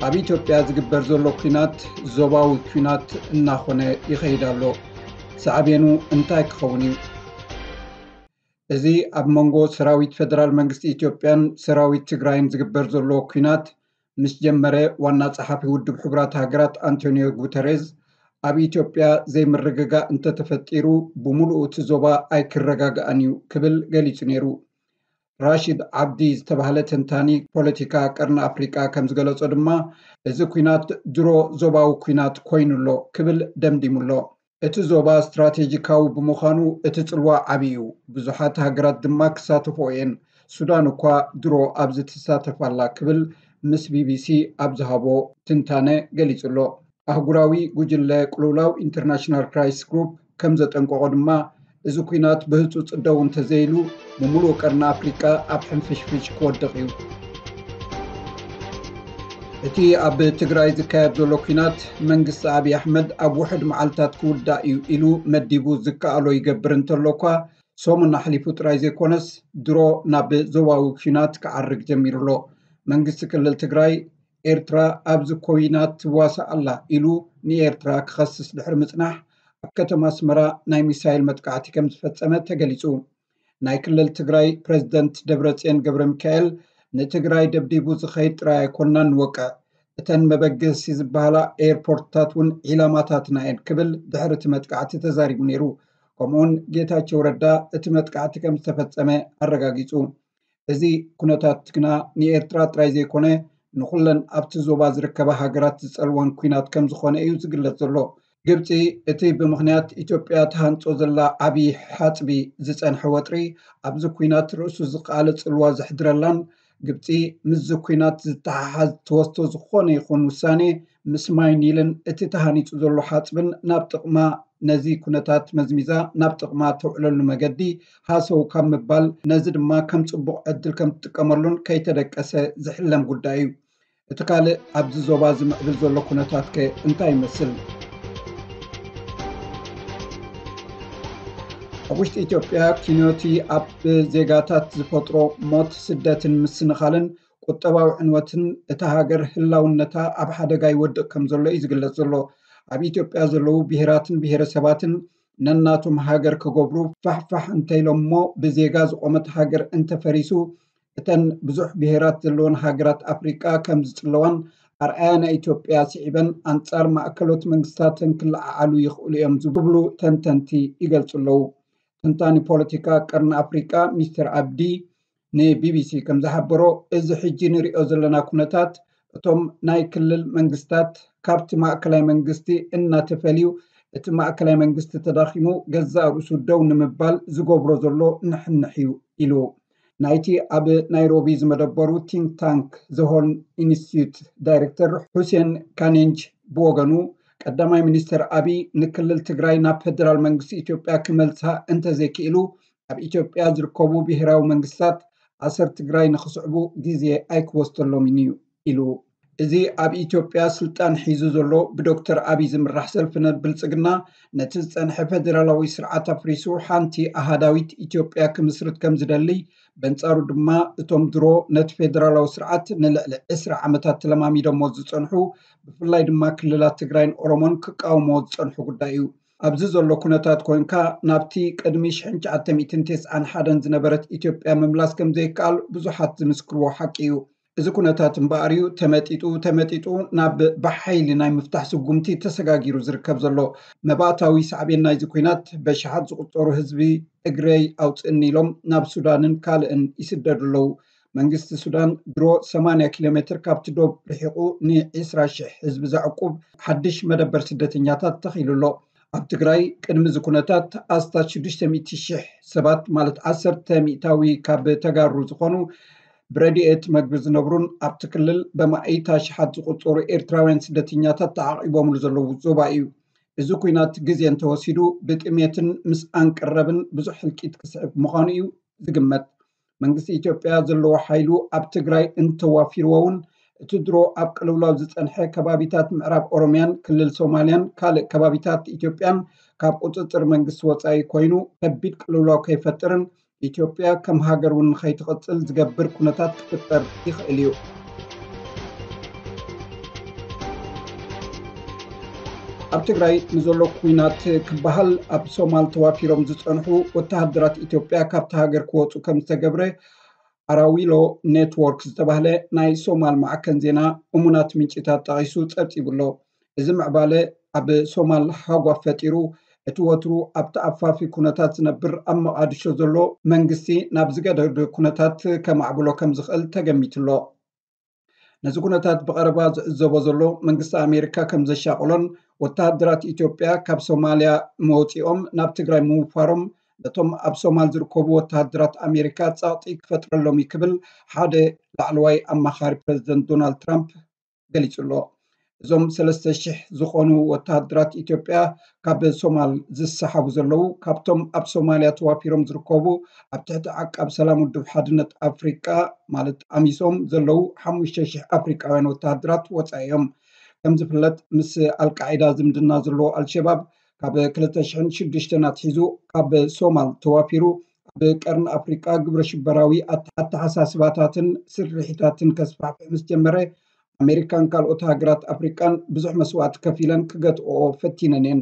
ኣብ ኢትዮጵያ ዝግበር ዘሎ ኲናት ዞባዊ ኲናት እናኾነ ይኸይድ ኣሎ። ሳዕቤኑ እንታይ ክኸውን እዩ? እዚ ኣብ መንጎ ሰራዊት ፌደራል መንግስቲ ኢትዮጵያን ሰራዊት ትግራይን ዝግበር ዘሎ ኲናት ምስ ጀመረ፣ ዋና ጸሓፊ ውድብ ሕቡራት ሃገራት ኣንቶኒዮ ጉተሬዝ፣ ኣብ ኢትዮጵያ ዘይምርግጋእ እንተተፈጢሩ፣ ብምሉኡ እቲ ዞባ ኣይክረጋጋእን እዩ ክብል ገሊጹ ነይሩ። ራሺድ ዓብዲ ዝተባህለ ተንታኒ ፖለቲካ ቀርኒ ኣፍሪቃ ከም ዝገለጾ ድማ፣ እዚ ኲናት ድሮ ዞባዊ ኲናት ኮይኑ ኣሎ ክብል ደምዲሙ ኣሎ። እቲ ዞባ ስትራቴጂካዊ ብምዃኑ እቲ ጽልዋ ዓቢ እዩ፣ ብዙሓት ሃገራት ድማ ክሳተፍኦ እየን። ሱዳን እኳ ድሮ ኣብዚ ትሳተፍ ኣላ ክብል ምስ ቢቢሲ ኣብ ዝሃቦ ትንታነ ገሊጹ ኣሎ። ኣህጉራዊ ጉጅለ ቅልውላው ኢንተርናሽናል ክራይሲስ ግሩፕ ከም ዘጠንቀቖ ድማ፣ እዚ ኲናት ብህጹጽ ደው እንተዘይሉ፣ ብምሉእ ቀርኒ ኣፍሪቃ ኣብ ሕንፍሽፍሽ ክወድቕ እዩ። እቲ ኣብ ትግራይ ዝካየድ ዘሎ ኲናት፣ መንግስቲ ኣብይ ኣሕመድ ኣብ ውሑድ መዓልታት ክውዳእ እዩ ኢሉ መዲቡ ዝከኣሎ ይገብር እንተሎ እኳ፣ ሰሙን ኣሕሊፉ ጥራይ ዘይኮነስ፣ ድሮ ናብ ዞባዊ ኲናት ክዓርግ ጀሚሩ ኣሎ። መንግስቲ ክልል ትግራይ፣ ኤርትራ ኣብዚ ኲናት ትዋሳእ ኣላ ኢሉ ንኤርትራ ክኸስስ ድሕሪ ምጽናሕ፣ ኣብ ከተማ ኣስመራ ናይ ሚሳይል መጥቃዕቲ ከም ዝፈጸመ ተገሊጹ። ናይ ክልል ትግራይ ፕሬዝደንት ደብረጽዮን ገብረ ሚካኤል፣ ንትግራይ ደብዲቡ ዝኸይድ ጥራይ ኣይኮንናን ንወቅዕ፣ እተን መበገሲ ዝበሃላ ኤርፖርትታት እውን ዒላማታትና እየን ክብል ድሕሪ እቲ መጥቃዕቲ ተዛሪቡ ነይሩ። ከምኡውን ጌታቸው ረዳ እቲ መጥቃዕቲ ከም ዝተፈጸመ ኣረጋጊጹ። እዚ ኩነታት ግና ንኤርትራ ጥራይ ዘይኮነ፣ ንኹለን ኣብቲ ዞባ ዝርከባ ሃገራት ዝጸልወን ኲናት ከም ዝኾነ እዩ ዝግለጽ ዘሎ። ግብጺ፣ እቲ ብምኽንያት ኢትዮጵያ ትሃንጾ ዘላ ዓቢ ሓጽቢ ዝጸንሐ ወጥሪ፣ ኣብዚ ኲናት ርእሱ ዝኸኣለ ጽልዋ ዘሕድረላን፣ ግብጺ ምስዚ ኲናት ዝተሓሓዝ ትወስዶ ዝኾነ ይኹን ውሳኔ፣ ምስ ማይ ኒልን እቲ ተሃኒጹ ዘሎ ሓጽብን ናብ ጥቕማ፣ ነዚ ኩነታት መዝሚዛ ናብ ጥቕማ ተውዕለሉ መገዲ ሃሰው ካብ ምባል፣ ነዚ ድማ ከም ጽቡቕ ዕድል ከም ትጥቀመሉን ከይተደቀሰ ዝሕለም ጉዳይ እዩ። እቲ ካልእ ኣብዚ ዞባ ዝምዕብል ዘሎ ኩነታት ከ እንታይ ይመስል? ኣብ ውሽጢ ኢትዮጵያ፣ ኲናት ኣብ ዜጋታት ዝፈጥሮ ሞት፣ ስደትን ምስንኻልን ቁጠባዊ ዕንወትን እታ ሃገር ህላውነታ ኣብ ሓደጋ ይወድቕ ከም ዘሎ እዩ ዝግለጽ ዘሎ። ኣብ ኢትዮጵያ ዘለዉ ብሄራትን ብሄረሰባትን ነናቶም ሃገር ክገብሩ ፋሕፋሕ እንተኢሎም እሞ፣ ብዜጋ ዝቖመት ሃገር እንተፈሪሱ፣ እተን ብዙሕ ብሄራት ዘለወን ሃገራት ኣፍሪቃ ከም ዝጽለዋን፣ ኣርኣያ ናይ ኢትዮጵያ ስዒበን ኣንጻር ማእከሎት መንግስታተን ክለዓዓሉ ይኽእሉ እዮም ዝብሉ ተንተንቲ ይገልጹ ኣለዉ። ተንታኒ ፖለቲካ ቀርኒ ኣፍሪቃ ሚስተር ኣብዲ ንቢቢሲ ከም ዝሓበሮ፣ እዚ ሕጂ ንሪኦ ዘለና ኩነታት፣ እቶም ናይ ክልል መንግስታት ካብቲ ማእከላይ መንግስቲ እናተፈልዩ፣ እቲ ማእከላይ መንግስቲ ተዳኺሙ፣ ገዛእ ርእሱ ደው ንምባል ዝገብሮ ዘሎ ንሕንሕ እዩ ኢሉ። ናይቲ ኣብ ናይሮቢ ዝመደበሩ ቲንክ ታንክ ዘሆርን ኢንስቲትዩት ዳይሬክተር ሁሴን ካኔንጅ ብወገኑ፣ ቀዳማይ ሚኒስተር ኣቢይ ንክልል ትግራይ ናብ ፌደራል መንግስቲ ኢትዮጵያ ክመልሳ እንተዘይክኢሉ፣ ኣብ ኢትዮጵያ ዝርከቡ ብሄራዊ መንግስታት ኣሰር ትግራይ ንኽስዕቡ ግዜ ኣይክወስደሎምን እዩ ኢሉ። እዚ ኣብ ኢትዮጵያ ስልጣን ሒዙ ዘሎ ብዶክተር ኣቢይ ዝምራሕ ሰልፊ ብልጽግና፣ ነቲ ዝጸንሐ ፌደራላዊ ስርዓት ኣፍሪሱ ሓንቲ ኣሃዳዊት ኢትዮጵያ ክምስርት ከም ዝደሊ፣ በንጻሩ ድማ እቶም ድሮ ነቲ ፌደራላዊ ስርዓት ንልዕሊ ዕስራ ዓመታት ተለማሚዶሞ ዝጸንሑ፣ ብፍላይ ድማ ክልላት ትግራይን ኦሮሞን ክቃወሞ ዝጸንሑ ጉዳይ እዩ። ኣብዚ ዘሎ ኩነታት ኮንካ፣ ናብቲ ቅድሚ ሽሕን ትሽዓተ ሚእትን ተስዓን ሓደን ዝነበረት ኢትዮጵያ ምምላስ ከም ዘይከኣል ብዙሓት ዝምስክርዎ ሓቂ እዩ። እዚ ኩነታት እምበኣር እዩ ተመጢጡ ተመጢጡ ናብ ብሓይሊ ናይ ምፍታሕ ስጉምቲ ተሰጋጊሩ ዝርከብ ዘሎ። መባእታዊ ሳዕቤን ናይዚ ኲናት፣ በሽሓት ዝቑጸሩ ህዝቢ እግረይ ኣውፅእኒ ኢሎም ናብ ሱዳንን ካልእን ይስደዱ ኣለዉ። መንግስቲ ሱዳን ድሮ ሰማንያ ኪሎ ሜትር ካብቲ ዶብ ርሒቑ ንዒስራ ሽሕ ህዝቢ ዘዕቁብ ሓድሽ መደበር ስደተኛታት ተኺሉ ኣሎ። ኣብ ትግራይ ቅድሚ እዚ ኩነታት ኣስታት ሽዱሽተ ሚእቲ ሽሕ ሰባት፣ ማለት ዓሰርተ ሚእታዊ ካብ ተጋሩ ዝኾኑ፣ ብረድኤት መግቢ ዝነብሩን ኣብቲ ክልል ብኣማኢት ኣሽሓት ዝቑጸሩ ኤርትራውያን ስደተኛታት ተዓቒቦምሉ ዘለዉ ዞባ እዩ። እዚ ኲናት ግዜ እንተወሲዱ፣ ብጥሜትን ምስኣን ቀረብን ብዙሕ ህልቂት ክስዕብ ምዃኑ እዩ ዝግመት። መንግስቲ ኢትዮጵያ ዘለዎ ሓይሉ ኣብ ትግራይ እንተዋፊርዎ እውን፣ እቲ ድሮ ኣብ ቅልውላው ዝጸንሐ ከባቢታት ምዕራብ ኦሮምያን ክልል ሶማልያን ካልእ ከባቢታት ኢትዮጵያን ካብ ቁጽጽር መንግስቲ ወጻኢ ኮይኑ፣ ከቢድ ቅልውላው ከይፈጥርን ኢትዮጵያ ከም ሃገር እውን ንኸይትቕጽል ዝገብር ኩነታት ክፍጠር ይኽእል እዩ። ኣብ ትግራይ ንዘሎ ኩናት ክበሃል ኣብ ሶማል ተዋፊሮም ዝጸንሑ ወተሃደራት ኢትዮጵያ ካብቲ ሃገር ክወጹ ከም ዝተገብረ ኣራዊሎ ኔትወርክ ዝተባህለ ናይ ሶማል ማዕከን ዜና እሙናት ምንጭታት ጠቒሱ ጸብጺቡ ኣሎ። እዚ ምዕባለ ኣብ ሶማል ሃጓፍ ፈጢሩ፣ እቲ ወትሩ ኣብቲ ኣፋፊ ኩነታት ዝነብር ኣብ መቓድሾ ዘሎ መንግስቲ ናብ ዝገደደ ኩነታት ከማዕብሎ ከም ዝኽእል ተገሚቱ ኣሎ። ነዚ ኩነታት ብቐረባ ዝዕዘቦ ዘሎ መንግስቲ ኣሜሪካ ከም ዘሻቕሎን ወተሃደራት ኢትዮጵያ ካብ ሶማልያ መውፂኦም ናብ ትግራይ ምውፋሮም ነቶም ኣብ ሶማል ዝርከቡ ወተሃደራት ኣሜሪካ ጸቕጢ ክፈጥረሎም እዩ ክብል ሓደ ላዕለዋይ ኣማኻሪ ፕሬዚደንት ዶናልድ ትራምፕ ገሊጹ ኣሎ። እዞም ሰለስተ ሽሕ ዝኾኑ ወተሃደራት ኢትዮጵያ ካብ ሶማል ዝሰሓቡ ዘለዉ ካብቶም ኣብ ሶማልያ ተዋፊሮም ዝርከቡ ኣብ ትሕቲ ዓቃብ ሰላም ውድብ ሓድነት ኣፍሪቃ ማለት ኣሚሶም ዘለዉ ሓሙሽተ ሽሕ ኣፍሪቃውያን ወተሃደራት ወጻኢ እዮም። ከም ዝፍለጥ ምስ ኣልቃዒዳ ዝምድና ዘለዎ ኣልሸባብ ካብ ክልተ ሽሕን ሽዱሽተን ኣትሒዙ ካብ ሶማል ተዋፊሩ ኣብ ቀርኒ ኣፍሪቃ ግብረ ሽበራዊ ኣተ- ኣተሓሳስባታትን ስርሒታትን ከስፋሕፍሕ ምስ ጀመረ ኣሜሪካን ካልኦት ሃገራት ኣፍሪቃን ብዙሕ መስዋእቲ ከፊለን ክገትኦ ፈቲነን እየን።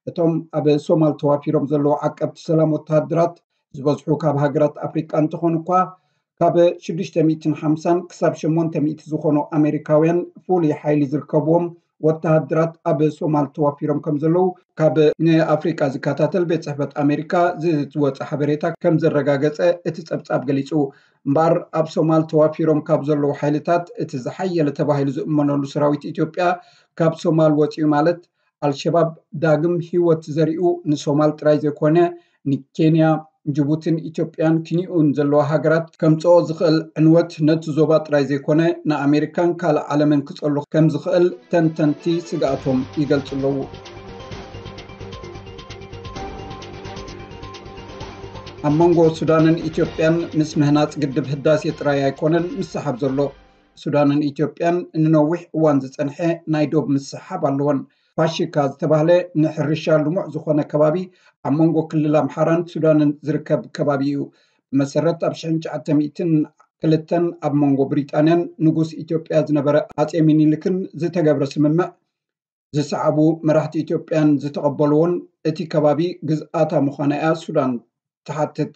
እቶም ኣብ ሶማል ተዋፊሮም ዘለዉ ዓቀብቲ ሰላም ወተሃደራት ዝበዝሑ ካብ ሃገራት ኣፍሪቃ እንተኾኑ እኳ ካብ ሽዱሽተ ሚእትን ሓምሳን ክሳብ ሸሞንተ ሚእቲ ዝኾኑ ኣሜሪካውያን ፍሉይ ሓይሊ ዝርከብዎም ወተሃደራት ኣብ ሶማል ተዋፊሮም ከም ዘለዉ ካብ ንኣፍሪቃ ዝከታተል ቤት ጽሕፈት ኣሜሪካ ዝወፀ ሓበሬታ ከም ዘረጋገጸ እቲ ጸብጻብ ገሊጹ። እምበኣር ኣብ ሶማል ተዋፊሮም ካብ ዘለዉ ሓይልታት እቲ ዝሓየለ ተባሂሉ ዝእመነሉ ሰራዊት ኢትዮጵያ ካብ ሶማል ወፂኡ ማለት ኣልሸባብ ዳግም ህይወት ዘሪኡ ንሶማል ጥራይ ዘይኮነ ንኬንያ፣ ጅቡትን ኢትዮጵያን ክንይኡን ዘለዋ ሃገራት ከምፅኦ ዝኽእል ዕንወት ነቲ ዞባ ጥራይ ዘይኮነ ንኣሜሪካን ካልእ ዓለምን ክፀሉ ከም ዝኽእል ተንተንቲ ስግኣቶም ይገልፁ ኣለዉ። ኣብ መንጎ ሱዳንን ኢትዮጵያን ምስ ምህናፅ ግድብ ህዳሴ ጥራይ ኣይኮነን ምስሓብ ዘሎ። ሱዳንን ኢትዮጵያን ንነዊሕ እዋን ዝፀንሐ ናይ ዶብ ምስሓብ ኣለወን። ፋሽካ ዝተባህለ ንሕርሻ ልሙዕ ዝኾነ ከባቢ ኣብ መንጎ ክልል ኣምሓራን ሱዳንን ዝርከብ ከባቢ እዩ። ብመሰረት ኣብ ሽሕን ትሽዓተ ሚእትን ክልተን ኣብ መንጎ ብሪጣንያን ንጉስ ኢትዮጵያ ዝነበረ ኣጼ ሚኒልክን ዝተገብረ ስምምዕ ዝሰዓቡ መራሕቲ ኢትዮጵያን ዝተቐበልዎን እቲ ከባቢ ግዝኣታ ምዃና እያ ሱዳን ትሓትት።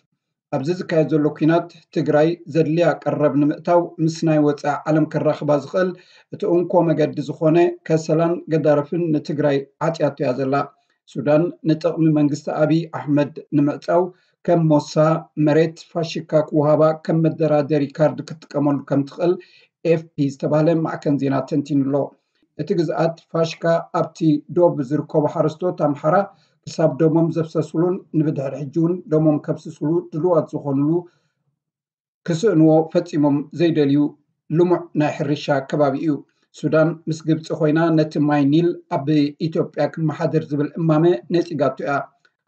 ኣብዚ ዝካየድ ዘሎ ኲናት ትግራይ ዘድልያ ቀረብ ንምእታው ምስ ናይ ወፃኢ ዓለም ከራኽባ ዝኽእል እቲ እንኮ መገዲ ዝኾነ ከሰላን ገዳርፍን ንትግራይ ዓፅያቶ እያ ዘላ። ሱዳን ንጥቕሚ መንግስቲ ኣብይ ኣሕመድ ንምዕፃው ከም ሞሳ መሬት ፋሽካ ክወሃባ ከም መደራደሪ ካርድ ክትጥቀመሉ ከም ትኽእል ኤፍፒ ዝተባህለ ማዕከን ዜና ተንቲኑ ኣሎ። እቲ ግዝኣት ፋሽካ ኣብቲ ዶብ ዝርከቡ ሓረስቶት ኣምሓራ ክሳብ ደሞም ዘፍሰስሉን ንብድሕሪ ሕጂ እውን ደሞም ከፍስስሉ ድሉዋት ዝኾኑሉ ክስእንዎ ፈጺሞም ዘይደልዩ ልሙዕ ናይ ሕርሻ ከባቢ እዩ። ሱዳን ምስ ግብፂ ኮይና ነቲ ማይ ኒል ኣብ ኢትዮጵያ ክመሓደር ዝብል እማመ ነፂጋቶ እያ።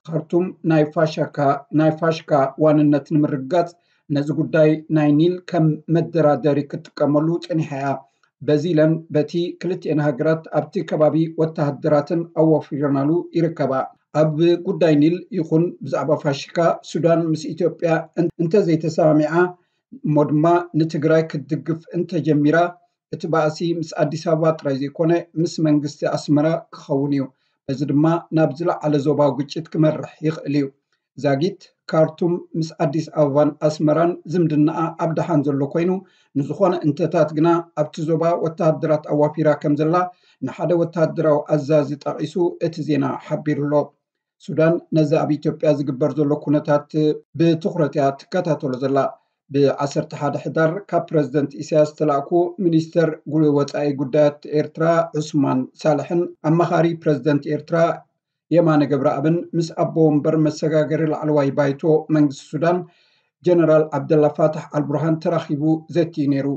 ካርቱም ናይ ፋሻካ ናይ ፋሽካ ዋንነት ንምርግጋፅ ነዚ ጉዳይ ናይ ኒል ከም መደራደሪ ክትጥቀመሉ ፀኒሓ እያ። በዚ ኢለን በቲ ክልቲኤን ሃገራት ኣብቲ ከባቢ ወተሃደራትን ኣዋፊረናሉ ይርከባ። ኣብ ጉዳይ ኒል ይኹን ብዛዕባ ፋሽካ ሱዳን ምስ ኢትዮጵያ እን- እንተዘይተሰማሚዓ እሞ ድማ ንትግራይ ክትድግፍ እንተጀሚራ እቲ ባእሲ ምስ ኣዲስ ኣበባ ጥራይ ዘይኮነ ምስ መንግስቲ ኣስመራ ክኸውን እዩ። በዚ ድማ ናብ ዝለዓለ ዞባዊ ግጭት ክመርሕ ይኽእል እዩ። ዛጊት ካርቱም ምስ ኣዲስ ኣበባን ኣስመራን ዝምድናኣ ኣብ ደሓን ዘሎ ኮይኑ ንዝኾነ እንተታት ግና ኣብቲ ዞባ ወተሃደራት ኣዋፊራ ከም ዘላ ንሓደ ወተሃደራዊ ኣዛዚ ጠቒሱ እቲ ዜና ሓቢሩ ኣሎ። ሱዳን ነዚ ኣብ ኢትዮጵያ ዝግበር ዘሎ ኩነታት ብትኹረት እያ ትከታተሎ ዘላ። ብ ዓሰርተ ሓደ ሕዳር ካብ ፕረዚደንት ኢሳያስ ዝተላእኩ ሚኒስተር ጉ- ወጻኢ ጉዳያት ኤርትራ ዑስማን ሳልሕን ኣማኻሪ ፕረዚደንት ኤርትራ የማነ ገብረኣብን ምስ ኣቦ ወንበር መሰጋገሪ ላዕለዋይ ባይቶ መንግስቲ ሱዳን ጀነራል ዓብደላ ፋታሕ ኣልቡርሃን ተራኺቡ ዘትዩ ነይሩ።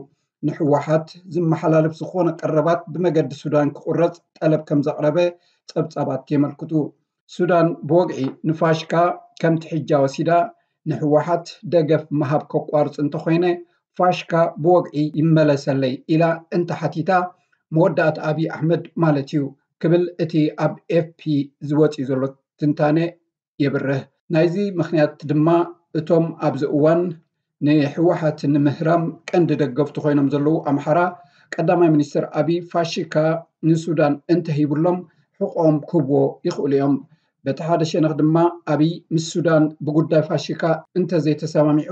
ንህወሓት ዝመሓላለፍ ዝኾነ ቀረባት ብመገዲ ሱዳን ክቑረጽ ጠለብ ከም ዘቕረበ ጸብጻባት የመልክቱ። ሱዳን ብወግዒ ንፋሽካ ከምቲ ሕጃ ወሲዳ ንህወሓት ደገፍ ምሃብ ከቋርጽ እንተኾይነ ፋሽካ ብወግዒ ይመለሰለይ ኢላ እንተሓቲታ መወዳእታ ኣብይ ኣሕመድ ማለት እዩ ክብል እቲ ኣብ ኤፍፒ ዝወፅእ ዘሎ ትንታነ የብርህ። ናይዚ ምኽንያት ድማ እቶም ኣብዚ እዋን ንህወሓት ንምህራም ቀንዲ ደገፍቲ ኮይኖም ዘለዉ ኣምሓራ ቀዳማይ ሚኒስትር ኣብይ ፋሽካ ንሱዳን እንተሂብሎም ሕቆም ክህብዎ ይኽእሉ እዮም። በቲ ሓደ ሸነኽ ድማ ኣብይ ምስ ሱዳን ብጉዳይ ፋሽካ እንተዘይተሰማሚዑ፣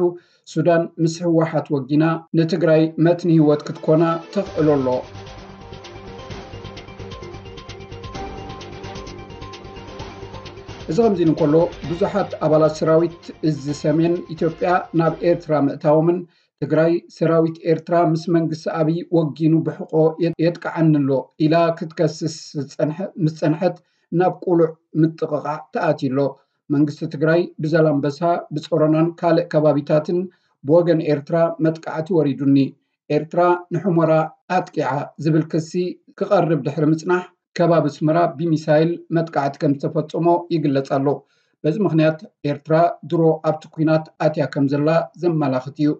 ሱዳን ምስ ህወሓት ወጊና ንትግራይ መትኒ ህይወት ክትኮና ተኽእሎ ኣሎ። እዚ ከምዚ ኢሉ እንከሎ፣ ብዙሓት ኣባላት ሰራዊት እዚ ሰሜን ኢትዮጵያ ናብ ኤርትራ ምእታዎምን ትግራይ ሰራዊት ኤርትራ ምስ መንግስቲ ኣብይ ወጊኑ ብሕቆ የጥቅዓኒ ኣሎ ኢላ ክትከስስ ምስ ፀንሐት ናብ ቁሉዕ ምጥቕቓዕ ተኣትዩ ኣሎ። መንግስቲ ትግራይ ብዘላምበሳ፣ ብፀሮናን ካልእ ከባቢታትን ብወገን ኤርትራ መጥቃዕቲ ወሪዱኒ። ኤርትራ ንሑመራ ኣጥቂዓ ዝብል ክሲ ክቐርብ ድሕሪ ምፅናሕ፣ ከባቢ ኣስመራ ብሚሳይል መጥቃዕቲ ከም ዝተፈጸሞ ይግለጽ ኣሎ። በዚ ምኽንያት ኤርትራ ድሮ ኣብቲ ኲናት ኣትያ ከም ዘላ ዘመላኽት እዩ።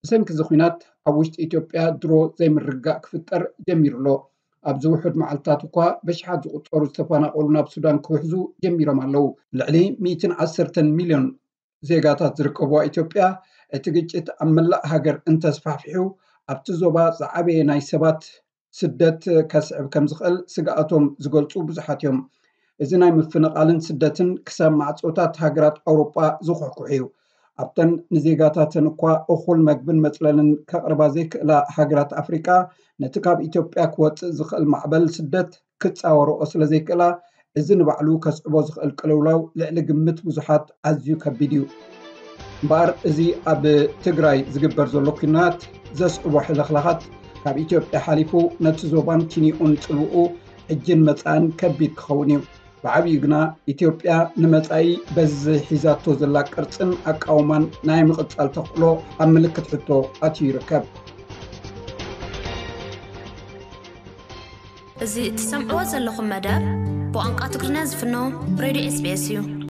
ብሰንኪ እዚ ኲናት ኣብ ውሽጢ ኢትዮጵያ ድሮ ዘይምርግጋእ ክፍጠር ጀሚሩ ኣሎ። ኣብዚ ውሑድ መዓልትታት እኳ ብሽሓት ዝቑጸሩ ዝተፈናቐሉ ናብ ሱዳን ክውሕዙ ጀሚሮም ኣለዉ። ልዕሊ ሚእትን ዓሰርተን ሚልዮን ዜጋታት ዝርከብዋ ኢትዮጵያ፣ እቲ ግጭት ኣብ መላእ ሃገር እንተስፋሕፊሑ፣ ኣብቲ ዞባ ዝዓበየ ናይ ሰባት ስደት ከስዕብ ከም ዝኽእል ስግኣቶም ዝገልጹ ብዙሓት እዮም። እዚ ናይ ምፍንቓልን ስደትን ክሳብ ማዕጾታት ሃገራት ኣውሮጳ ዝኹሕኩሕ እዩ። ኣብተን ንዜጋታተን እኳ እኹል መግብን መጽለልን ከቕርባ ዘይክእላ ሃገራት ኣፍሪቃ፣ ነቲ ካብ ኢትዮጵያ ክወጽእ ዝኽእል ማዕበል ስደት ክጻወርኦ ስለ ዘይክእላ፣ እዚ ንባዕሉ ከስዕቦ ዝኽእል ቅልውላው ልዕሊ ግምት ብዙሓት ኣዝዩ ከቢድ እዩ። እምበኣር፣ እዚ ኣብ ትግራይ ዝግበር ዘሎ ኲናት ዘስዕቦ ሕልኽላኻት፣ ካብ ኢትዮጵያ ሓሊፉ ነቲ ዞባን ኪንዮኡን ጽልውኡ ሕጅን መጻእን ከቢድ ክኸውን እዩ። ብዓብዩ ግና፣ ኢትዮጵያ ንመጻኢ በዚ ሒዛቶ ዘላ ቅርጽን ኣቃውማን ናይ ምቕጻል ተኽእሎ ኣብ ምልክት ሕቶ ኣትዩ ይርከብ። እዚ እትሰምዕዎ ዘለኹም መደብ ብቋንቋ ትግርኛ ዝፍኖ ሬድዮ ኤስቢኤስ እዩ።